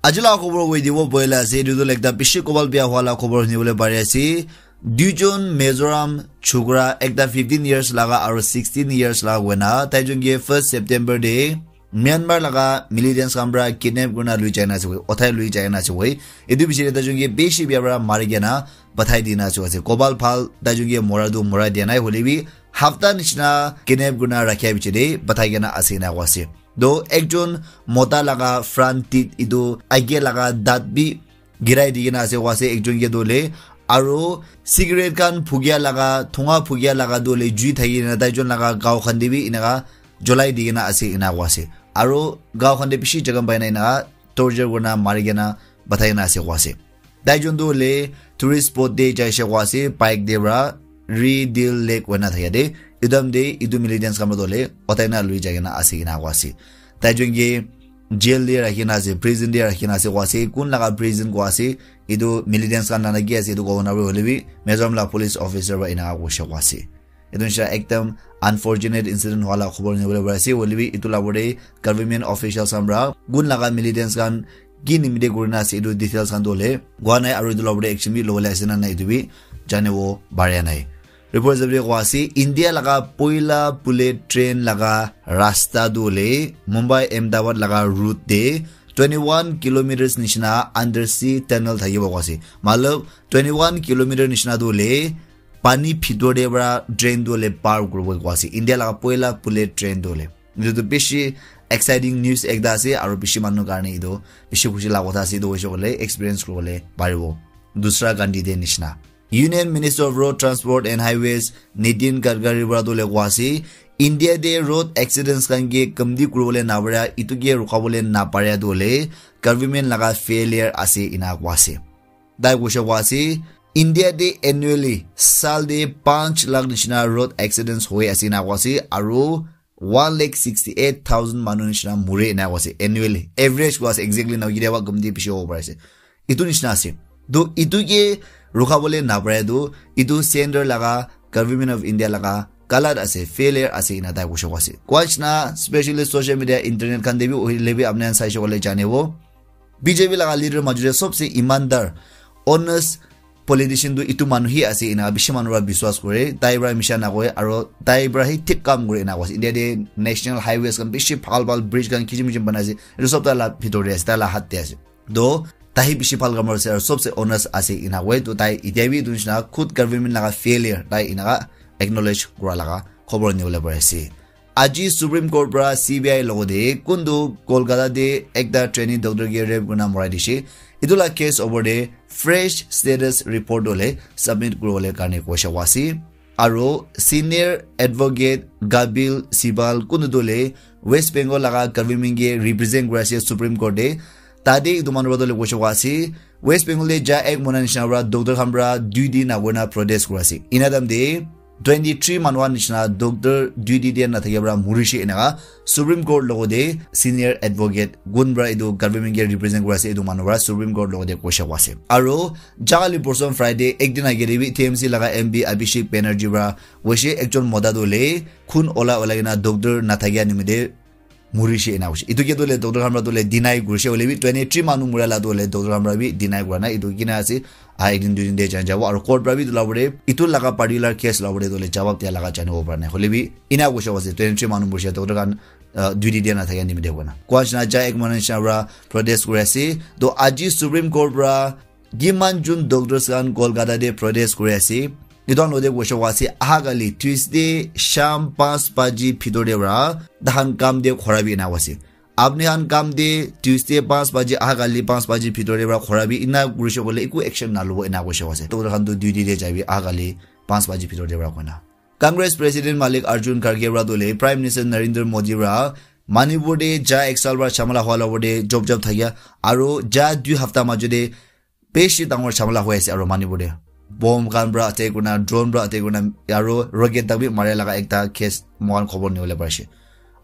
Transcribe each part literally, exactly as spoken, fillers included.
Aji la khobor koi dibo boila ase, etu tu ekta bishi kobal bia hua la khobor huni bole pari ase. Duijon Mizoram chukra, ekta fifteen years laga aro sixteen years laga hoina, tai jun ke first September de Myanmar laga militants khan pra kidnap kurina lui jaina ase koi, uthai lui jaina ase koi. Etu bishi de tai jun ke bishi bia pra mari kena pathai dina ase koi ase. Kobal phal tai jun ke mora tu mora dia nai, hoile bi hafta nishina kidnap kurina rakhia bichi de pathai kena ase ena koi ase. Do ekjon mota laga front teeth etu age laga dat bi girai di kena ase koi ase ekjon ke tu hoile. Aro cigarette khan phukia laga, thunga phukia laga tu hoile jui thaki kena tai jun laga gao khan de bi enaka jolai di kena ase ena koi ase. Aro gao khan de bishi jaga paina enaka torture kurina mari kena pathai kena ase koi ase. Tai jun tu hoile tourist spot de jaise koi ase, bike de pra Ri Dil Lake hoina thaka de. Etu time de etu militants khan pra tu hoile uthai na lui jai kena ase ena koi ase. Tai jun ke jail de rakhi na ase, prison de rakhi na ase koi ase. Kun laga prison koi ase, etu militants khan la na ki ase etu kobo na pare, hoile bi Mizoram la police officer pra enaka koise koi ase. Etu nishina ekdam unfortunate incident hua la khobor nibole pari ase, hoile bi etu la pore government officials khan pra kun laga militants khan ki nimite kurina ase etu details khan tu hoile kua nai, aro etu la pore action bi lobole ase na nai etu bi janibo pare nai. Report jabi koi ase, India laga poila bullet train laga rasta tu hoile Mumbai Ahmedabad laga route de twenty one kilometers nishina undersea tunnel thakibo koi ase. Matlab twenty one kilometer nishina tu hoile pani bhitor de pra train tu hoile par kuribo koi ase. India laga poila bullet train tu hoile. Etu tu bishi exciting news ekta ase, aro bishi manu karne etu bishi khushi laga kotha ase, etu hoise koile experience kuribole paribo. Dusra Gandhi de nishina. Union Minister of Road Transport and Highways Nitin Gadkari pra tu hoile koi ase, India de road accidents khan ke kamti kuribole na pare, etu ke rukabole na pare tu hoile government laga failure ase ena koi ase. Tai koise koi ase, India de annually sal de panch lakh nishina road accidents hoi ase ena koi ase, aro one lakh sixty eight thousand manu nishina mure ena koi ase annually. Average koi ase, exactly na, kitiaba kamti bishi hobo pari ase. Etu nishina ase. To etu ke rukabole na pare to, etu center laga, Government of India laga galat ase, failure ase ena tai koise koi ase. Koi nishina, specially social media, internet khan de bi, hoile bi apni khan saise koile janibo. B J P laga leader major de sobse imandar, honest politician tu etu manu hi ase ena bishi manu para biswas kore, tai para misha na koi, aro tai para hi thik kam kore ena koi ase. India de national highways khan bishi bhal bhal bridge khan kisim kisim banai ase, etu sob tai la bhitor de ase, tai la hath de ase. To tai hi bishi bhal kam kuri ase, aro sobse honest ase ena koi. To tai etia bi etu nishina khud government laga failure tai enaka acknowledge kura laga khobor nibole pari ase. Aji Supreme Court pra C B I logote kuntu Kolkata te ekta trainee doctor ke rape kurina morai dishe. Etu la case opor te fresh status report hole submit kuribole karne koisha ase. Aro senior advocate Gabil Sibal kuntu tu hole West Bengal laga government ke represent kuri ase Supreme Court te. Tate etu manu para tu hole koisha ase, West Bengal te ja ek mona nishina para doctor khan para dui din agona protest kuri ase. Ena time te twenty three manu khan nishina doctor duty te na thakia para murishe enaka Supreme Court logote senior advocate gun para etu government ke represent kuri ase etu manu para Supreme Court logote koisha ase. Aro jali porson Friday ek din age te bi T M C laga M P Abhishek Banerjee para koishe ekjon mota tu hole khun ola ola kena doctor na thakia nimite murishe ena hoishe. Etu ke tu hole doctor khan para tu hole deny kurishe hole bi twenty three manu mura la tu hole doctor khan para bi deny kura nai. Etu kina ase, ah, ek din dui din te jai jabo. Aro court para bi etu la pore, etu laga particular case la pore tu hole jawab dia laga janibo para nai. Hole bi ena koisha ase, twenty three manu murishe doctor khan, ah, duty dia na thakia nimite koina. Koa nishina ja ek manu nishina para protest kuri ase. To aji Supreme Court para kiman jun doctors khan Kolkata te protest kuri ase. Etu khan logote koisha ase, aha kali Tuesday sham panch baji bhitor te para tahan kam te khora bi ena ase. Apni khan kam te Tuesday panch baji, aha kali panch baji bhitor te para khora bi ena kurishe koile eku action na lobo ena koisha ase. Doctor khan tu duty te jaibi aha kali panch baji bhitor te para koina. Congress President Malik Arjun Kharge para tu hole Prime Minister Narendra Modi para Manipur te ja ek sal para chamala hua la te job job thakia aro ja dui hafta majo te beshi dangor chamala hoi ase aro Manipur te. Bomb khan para attack kurina, drone para attack kurina, aro rocket tak bi mare laga ekta case moikhan khobor nibole parishe.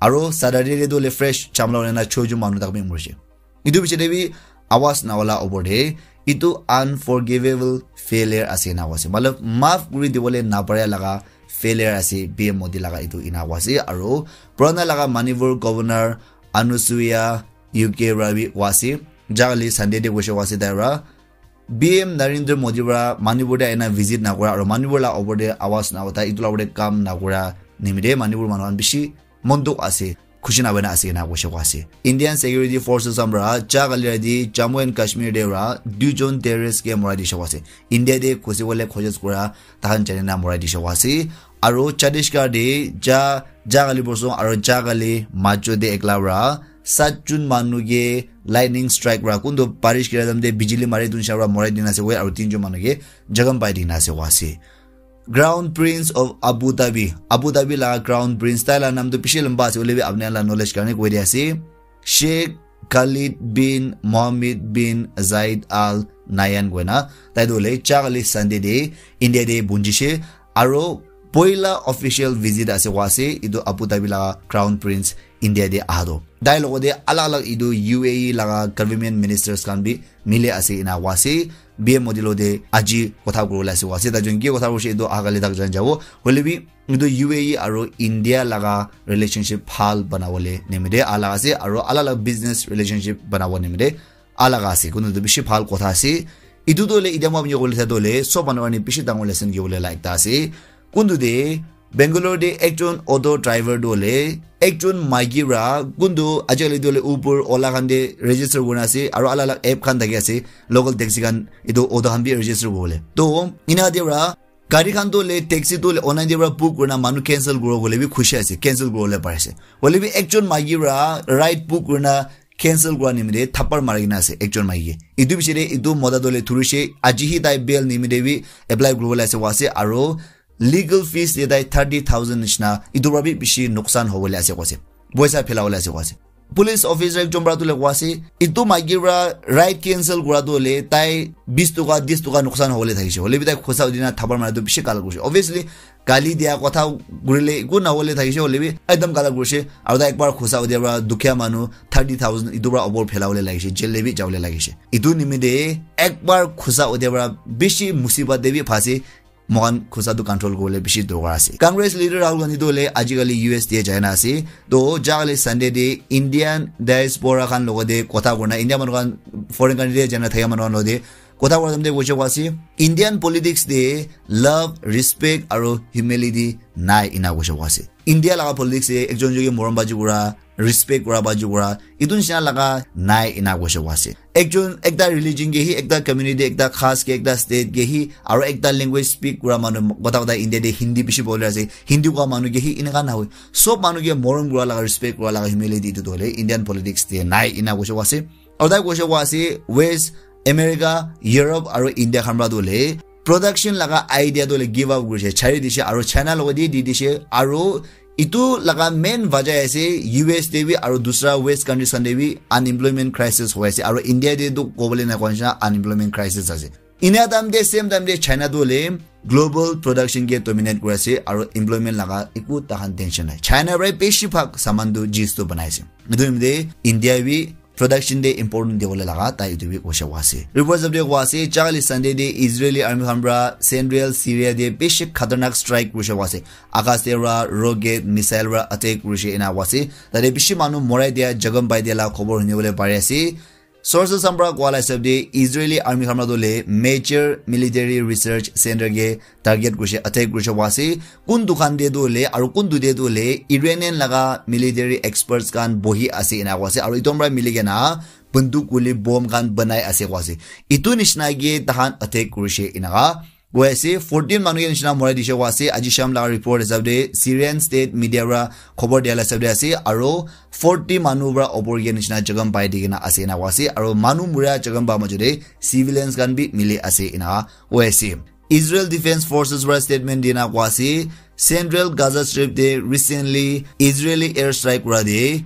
Aro Saturday te tu hole fresh chamala hoi na choi jon manu tak bi murishe. Etu piche te bi awaz na ola opor te, etu unforgivable failure ase na koise. Matlab, maaf kuri dibole na pare laga failure ase P M Modi laga etu ena koise. Aro purana laga Manipur Governor Anusuiya Uikey para bi koa ase, Jagali Sunday te koise koa ase tai para B M Narendra Modi para Manipur te aina visit nakura aru Manipur la opor te awas na uthai, itu la opor te kam nakura nimite Manipur manu khan bishi mon dukh ase, khushi na hoina ase na koise koa ase. Indian Security Forces khan para jagali rati Jammu and Kashmir te para duijon terrorist ke morai dishe koa ase. India te ghusi bole khojos kura takhan jane na morai dishe koa ase. Aru Chhattisgarh te ja, jagali bosong aru jagali majo te ekla para sat jon manu ke lightning strike para kuntu barish kira time te bijili mari dun sha para morai dina ase koi aru tinjon manu ke jakham pai dina ase koa ase. Crown Prince of Abu Dhabi, Abu Dhabi la Crown Prince, tai la nam tu bishi lamba ase, hoile bi apni la knowledge karne koi dia ase. Sheikh Khalid bin Mohammed bin Zayed Al Nahyan koina, tai tu hoile jagali Sunday te India te bunjishe, aro poila official visit ase koa ase, itu Abu Dhabi la Crown Prince India te aha tu. Tai logote alag alag itu U A E laga government ministers khan bi mili ase ena koa ase. B M Modi logote aji kotha kuribole ase koa ase. Tai jun ki kotha kurishe itu agali tak jan jabo. Hoile bi itu U A E aro India laga relationship bhal banabole nimite alag ase aro alag alag business relationship banabo nimite alag ase. Kunu tu bishi bhal kotha ase. Itu tu hoile itya moi apni kole tha tu hoile sob manu karne bishi dangor lesson kibole la ekta ase. Kuntu te Bangalore te ekjon auto driver tu hoile ekjon maiki para kuntu ajikali tu hoile Uber, Ola khan te register kurina ase aro alak alak app khan thaki ase local taxi khan etu auto khan bi register kuribole. To ena te para gari khan tu hoile taxi tu hoile online te para book kurina manu cancel kuribo koile bi khushi ase, cancel kuribole pari ase. Hoile bi ekjon maiki para ride book kurina cancel kura nimite thapar mari kena ase ekjon maiki. Etu piche te etu mota tu hoile thurishe, aji hi tai bail nimite bi apply kuribole ase koa ase aro legal fees te tai thirty thousand nishina, etu para bi bishi nuksan hobole ase koa ase, poisa phelabole ase koa ase. Police officer ekjon para tu hoile koa ase, etu maiki para ride cancel kura tu hoile tai bis toka, dis toka nuksan hobole thakishe, hoile bi tai khusa udina thapar mara tu bishi gala kurishe. Obviously, gali dia kotha kurile eku nahole thakishe, hoile bi ekdam gala kurishe. Aro tai ekbar khusa udia para dukhia manu thirty thousand etu para opor phelabole lagishe, jail te bi jabole lagishe. Etu nimite ekbar khusa udia para bishi musibat te bi phase. Moikhan khusa tu control kuribole bishi dorkar ase. Congress leader Rahul Gandhi tu hoile ajikali U S te jai na ase. To jagali Sunday te Indian diaspora khan logote kotha kurina, India manu khan foreign country te jai na thaka manu khan logote kotha kura time te koise koa ase, Indian politics te love, respect aro humility nai ena koise koa ase. India laga politics te ekjon ekjon ke morom baji kura, respect kura baji kura, etu nishina laga nai ena koise koa ase. Ekjon ekta religion ke hi, ekta community, ekta caste ke, ekta state ke hi, aro ekta language speak kura manu, kotha kotha India te Hindi bishi popular ase, Hindi koa manu ke hi eneka nahoi. Sob manu ke morom kura laga, respect kura laga, humility etu tu hoile Indian politics te nai ena koise koa ase. Aru tai koise koa ase West America, Europe aru India khan para tu hoile production laga idea tu hoile give up kurishe, chari dishe aru China logote di dishe aru etu laga main wajah ase U S te bi aru dusra West countries khan te bi unemployment crisis hoi ase aru India te tu kobole na koa nishina unemployment crisis ase. Ena time te same time te China tu hoile global production ke dominate kuri ase aru employment laga eku tahan tension nai. China para bishi bhag saman tu jis tu banai ase. Etu nimite India bi production te important dibole laga tai etu bi koise koa ase. Reports update koa ase, jagali Sunday te Israeli army khan para central Syria te bishi khatarnak strike kurishe koa ase. Akash te para rocket, missile para attack kurishe ena koa ase. Tate bishi manu morai dia, jakham pai dia la khobor hunibole pari ase. Sources khan para koa la hisab te Israeli army khan para tu hoile major military research center ke target kurishe, attack kurishe koa ase. Kuntu khan te tu hoile aru kuntu te tu hoile Iranian laga military experts khan bohi ase ena koa ase. Aru etu khan para mili kena banduk, guli, bomb khan banai ase koa ase. Etu nishina ke tahan attack kurishe eneka koi ase. Fourteen manu ke nishina morai dishe koa ase. Aji sham laga report hisab te Syrian state media para khobor dia la hisab te ase. Aru forty manu para opor ke nishina jakham pai di kena ase ena koa ase. Aru manu mura jakham pa majo te civilians khan bi mili ase ena koi ase. Israel Defense Forces para statement dina koa ase, Central Gaza Strip te recently Israeli airstrike kura te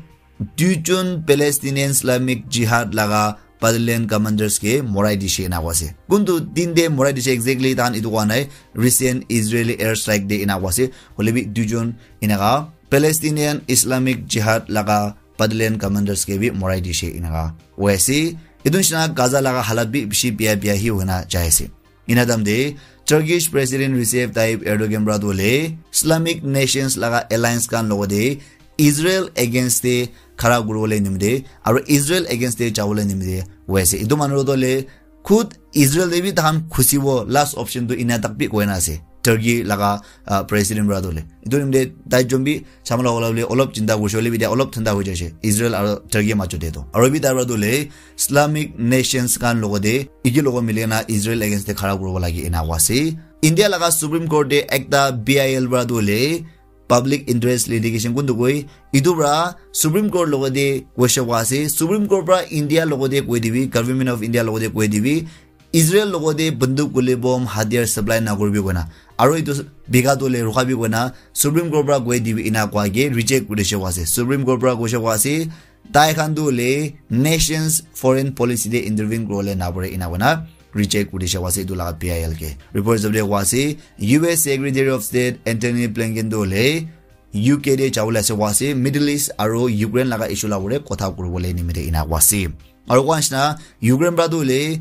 duijon Palestinian Islamic Jihad laga battalion commanders ke morai dishe ena koa ase. Kuntu din te morai dishe exactly tahan etu koa nai, recent Israeli airstrike te ena koa ase. Hoile bi duijon eneka Palestinian Islamic Jihad laga battalion commanders ke bi morai dishe eneka koi ase. Etu nishina Gaza laga halat bi bishi bia bia hi hoina jai ase. Ena time te Turkish President Recep Tayyip Erdogan para tu hoile Islamic Nations laga alliance khan logote Israel against te khara kuribole nimite aro Israel against te jabole nimite hoi ase. Etu manu to le khud Israel te bi tahan khusibo last option tu ena tak bi koina ase. Turkey laga, ah, president para tu le. Etu nimite tai jombi chamala wala bole olop chinta kurise bole bi dia olop thanda hoi jaise. Israel aro Turkey majo te to. Aro bi tai para tu le Islamic nations khan logote, iki logo milikena Israel against te khara kuribo lage ena koa ase. India laga Supreme Court te ekta B I L para tu le public interest litigation kuntu koi, itu para Supreme Court logote koise koa ase. Supreme Court para India logote koi dibi, Government of India logote koi dibi, Israel logote banduk guli bomb hatiar supply na kuribi koina. Aro itu bika tu le rukha bi koina Supreme Court para koi dibi ena koa ke reject kurise koa ase. Supreme Court para koise koa ase, tai khan tu le nations foreign policy te intervene kuribole na pare ena koina reject kurise koa ase itu laga B I L ke. Report jab de koa ase, U S Secretary of State Antony Blinken tu le U K te jabole ase koa ase, Middle East aro Ukraine laga issue la pore kotha kuribole nimite ena koa ase. Aro koa nishina Ukraine para tu le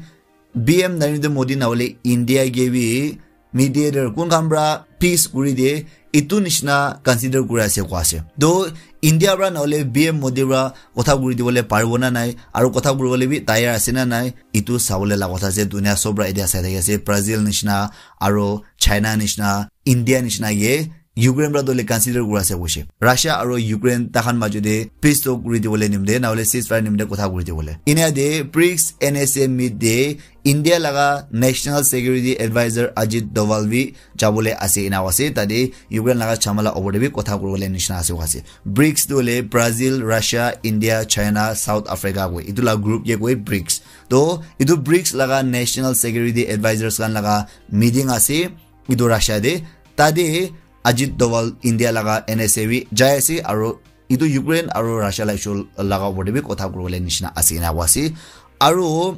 P M Narendra Modi na hole India ke bi mediator kun khan para peace kuri de itu nishina consider kuri ase koa ase. To India para na hole P M Modi para kotha kuri dibole paribo na nai, aro kotha kuribole bi tayar ase na nai, itu sabole la kotha ase. Dunia sob para etia sai thaki ase, Brazil nishina aro China nishina, India nishina ke Ukraine para dole consider kura ase koise. Russia aro Ukraine takhan majo de peace talk kuri dibole nimde, na hole ceasefire nimde kotha kuri dibole. Inia de brics N S A meet de India laga National Security Advisor Ajit Doval bi jabole ase ena ase. Tade Ukraine laga chamala opor de bi kotha kuribole nishina ase koa ase. brics tu hole Brazil, Russia, India, China, South Africa koi. Itu la group ke koi brics. To itu brics laga National Security Advisors khan laga meeting ase. Itu Russia de. Tade Ajit Doval India laga N S A bi jai ase aro itu Ukraine aro Russia la issue laga opor de bi kotha kuribole nishina ase ena koa ase. Aro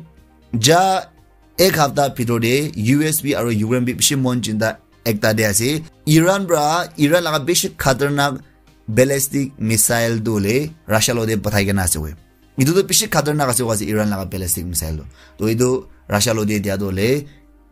ja ek hafta bhitor de U S bi aro Ukraine bi bishi mon chinta ekta de ase. Iran para, Iran laga bishi khatarnak ballistic missile tu le Russia logote pathai kena ase koi. Itu tu bishi khatarnak ase koa ase Iran laga ballistic missile tu. To itu Russia logote dia tu le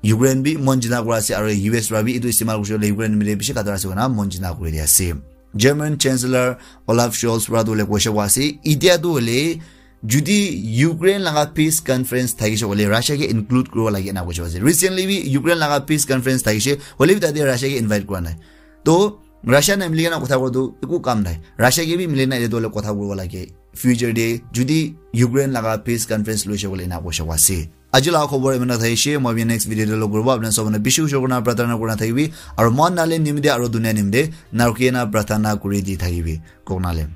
Ukraine bi mon jina kura ase aro U S para bi itu istemal kurise le Ukraine nimite bishi khatar ase koina mon jina kuri dia ase. German Chancellor Olaf Scholz para tu le koise koa ase, itia tu le judi Ukraine laga peace conference thakise kole Russia ke include kuribo lage ena koise koa ase. Recently bi Ukraine laga peace conference thakise, hole bi tate Russia ke invite kura nai. To Russia na milikena kotha kura tu eku kam nai. Russia ke bi milikena etu hole kotha kuribo lage. Future de judi Ukraine laga peace conference loise kole ena koise koa ase. Aji laga khobor imana thaishe, moi bi next video te log kuribo. Apna sob mane bishi ushor kurna pratana kurna thakibi. Aro mon nale nimde aro dunia nimde narkena pratana kuri di thakibi. Koknale.